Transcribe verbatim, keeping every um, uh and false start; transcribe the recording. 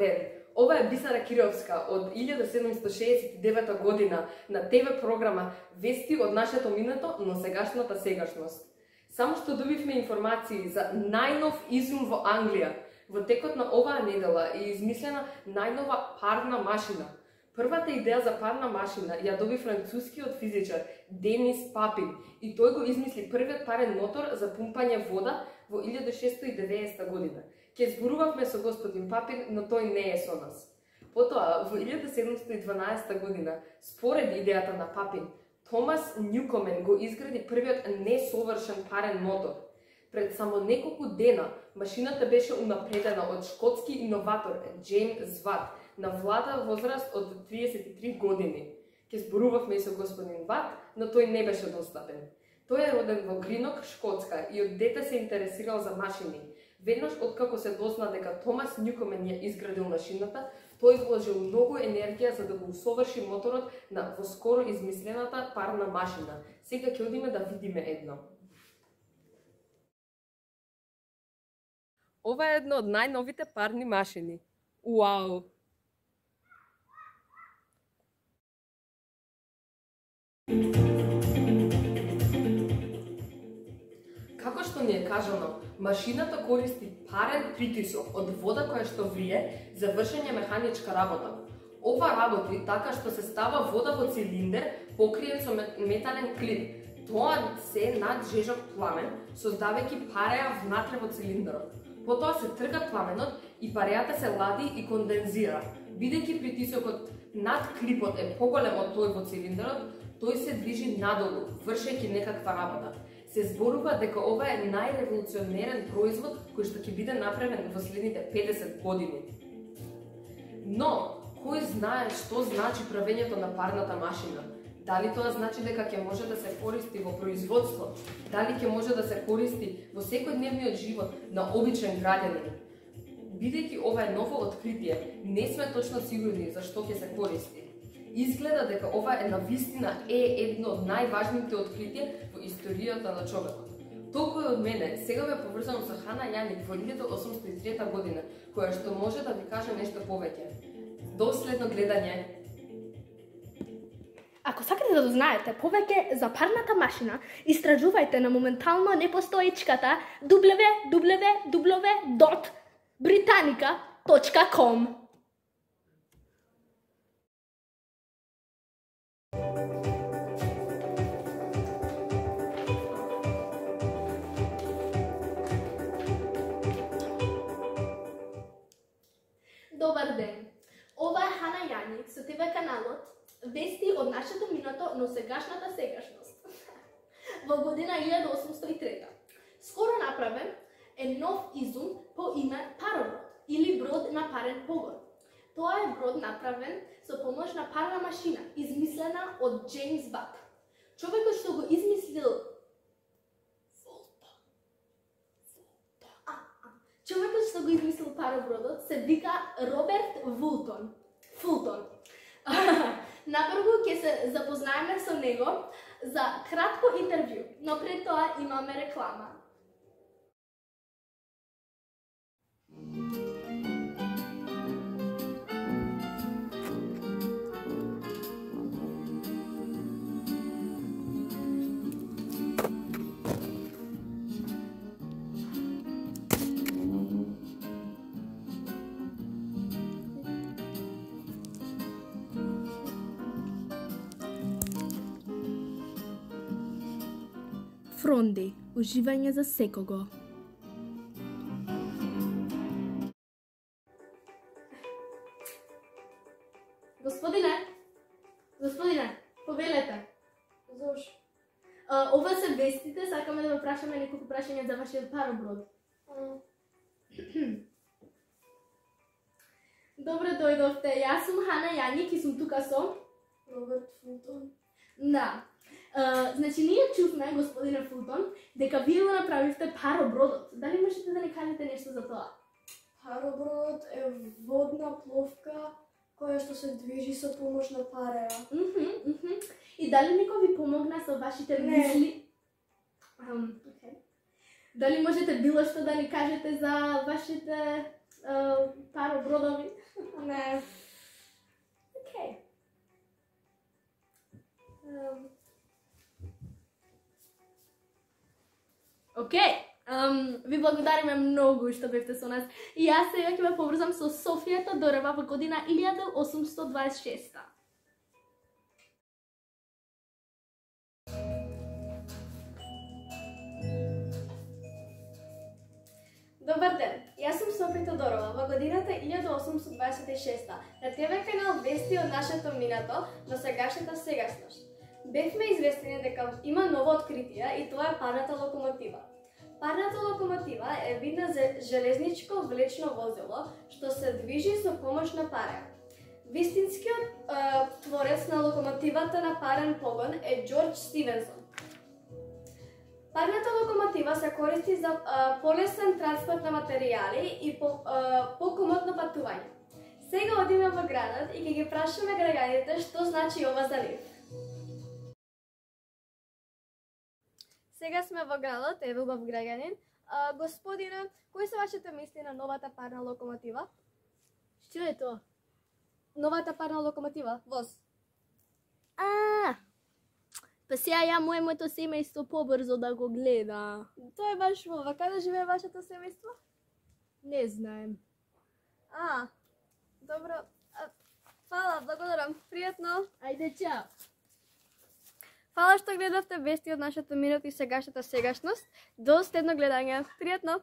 ден! Ова е Бисара Кировска од илјада седумстотини шеесет и девета година на ТВ програма Вести од нашето минато, но сегашната сегашност. Само што добивме информации за најнов изум во Англија. Во текот на оваа недела е измислена најнова парна машина. Првата идеја за парна машина ја доби францускиот физичар Денис Папин и тој го измисли првиот парен мотор за пумпање вода во илјада шестстотини и деветдесета година. Ке зборувавме со господин Папин, но тој не е со нас. Потоа, во илјада седумстотини и дванаесета година, според идејата на Папин, Томас Нјукомен го изгради првиот несовршен парен мотор. Пред само неколку дена, машината беше унапредена од шкотски иноватор Джеймс Ват на влада возраст од триесет и три години. Ке зборувавме и со господин Ват, но тој не беше достапен. Тој е роден во Гринок, Шкотска и од дете се интересирал за машини. Веднаш откако се дозна дека Томас Нјукомен ја изградил машината, тој вложил многу енергија за да го усоврши моторот на воскоро измислената парна машина. Сега ќе одиме да видиме едно. Ова е едно од најновите парни машини. Уау! Како што ни е кажано, машината користи парен притисок од вода која што врие за вршење механичка работа. Ова работи така што се става вода во цилиндер покриен со метален клин. Тоа се над жежок пламен, создавајќи пареја внатре во цилиндрот. Потоа се трга пламенот и парејата се лади и кондензира. Бидејќи притисокот над клипот е поголем од тој во цилиндрот, тој се движи надолу, вршејќи некаква работа. Се зборува дека ова е најреволуционерен производ кој што ќе биде направен во следните педесет години. Но, кој знае што значи правењето на парната машина? Дали тоа значи дека ќе може да се користи во производство? Дали ќе може да се користи во секојдневниот живот на обичен граѓанин? Бидејќи ова е ново откритие, не сме точно сигурни за што ќе се користи. Изгледа дека ова е навистина е едно од најважните откритија во историјата на човекот. Толку е од мене, сега ве поврзувам со Хана Јаник во илјада осумстотини и трета година, која што може да ви каже нешто повеќе. До следно гледање! Ако сакате да дознаете повеќе за парната машина, истражувајте на моментално непостоечката дабл ю дабл ю дабл ю точка британика точка ком. Добар ден! Ова е Хана Јаник со ТВ каналот Вести од нашето минато, но сегашната сегашност. Во година илјада осумстотини и трета. Скоро направен е нов изум по име пароброд или брод на парен погон. Тоа е брод направен со помош на парна машина, измислена од Джеймс Ват. Човекот што го измислил Човекот што го измислил паробродот се вика Роберт Вултон. Фултон. Напрву ќе се запознаеме со него за кратко интервју, но пред тоа имаме реклама. Фронди, уживање за секого. Господине, господине, повелете. Зошто? Ова се вестите, сакаме да ве прашаме неколку прашања за вашиот пароброд. Добре дојдовте, јас сум Хана Јаник и сум тука со Роберт Фултон. Да. Uh, значи, ние чувме, господине Фултон, дека вие го направивте паробродот. Дали можете да ни кажете нешто за тоа? Паробродот е водна пловка која што се движи со помош на пареја. Mm -hmm, mm -hmm. И дали никој ви помогна со вашите Не. мисли? Um, okay. Дали можете било што да ни кажете за вашите uh, паробродови? Не. Окей. Um, Океј, um, ви благодариме многу што бевте со нас. И јас сега ќе ве поврзам со Софија Тодорова во година илјада осумстотини дваесет и шеста. Добар ден, јас сум Софија Тодорова во годината илјада осумстотини дваесет и шеста на Те Ве канал вести од нашето минато на сегашната сегашност. Бевме известени дека има ново откритие и тоа е парната локомотива. Парната локомотива е вид на железничко влечно возило што се движи со помош на пареа. Вистинскиот е, творец на локомотивата на парен погон е Џорџ Стивенсон. Парната локомотива се користи за а, полесен транспорт на материјали и по, а, покомотно патување. Сега одиме во градот и ќе ги прашаме граѓаните што значи ова за нив. Сега сме во градот, еве убав граѓанин. А, господине, кои се вашите мисли на новата парна локомотива? Што е тоа? Новата парна локомотива, воз. А, па сега ја моето семејство побрзо да го гледа. Тоа е баш ова. Каде живее вашето семејство? Не знаем. А, добро. А, фала, благодарам. Пријатно. Ајде, чао. Фала што гледавте вести од нашето минат и сегашната сегашност. До следно гледање. Пријатно.